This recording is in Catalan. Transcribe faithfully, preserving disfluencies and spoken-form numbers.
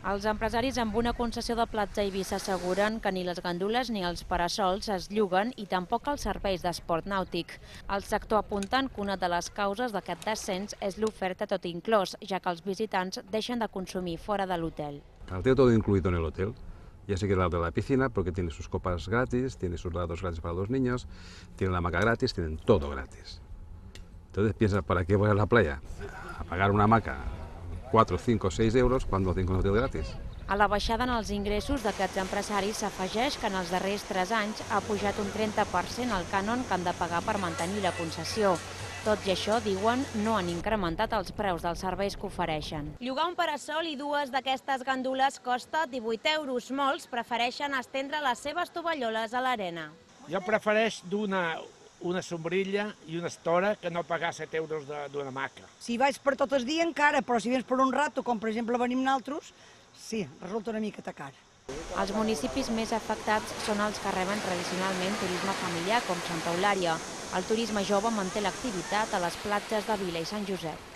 Els empresaris amb una concessió de platja a Eivissa asseguren que ni les gandules ni els parasols es lloguen i tampoc els serveis d'esport nàutic. El sector apuntant que una de les causes d'aquest descens és l'oferta tot inclòs, ja que els visitants deixen de consumir fora de l'hotel. Al tener todo incluido en el hotel, ya sé que es la de la piscina, porque tiene sus copas gratis, tiene sus helados gratis para los niños, tiene la hamaca gratis, tienen todo gratis. Entonces piensas, ¿para qué voy a la playa? A pagar una hamaca cuatro, cinco, seis euros cuando tengo un hotel gratis. A la baixada en els ingressos d'aquests empresaris s'afegeix que en els darrers tres anys ha pujat un trenta per cent el cànon que han de pagar per mantenir la concessió. Tot i això, diuen, no han incrementat els preus dels serveis que ofereixen. Llogar un parasol i dues d'aquestes gandules costa divuit euros. Molts prefereixen estendre les seves tovalloles a l'arena. Jo prefereix d'una una sombrilla i una estora que no pagar set euros d'una hamaca. Si vaig per tot el dia encara, però si vens per un rato, com per exemple venim nosaltres, sí, resulta una miqueta car. Els municipis més afectats són els que reben tradicionalment turisme familiar, com Santa Eulària. El turisme jove manté l'activitat a les platges de Vila i Sant Josep.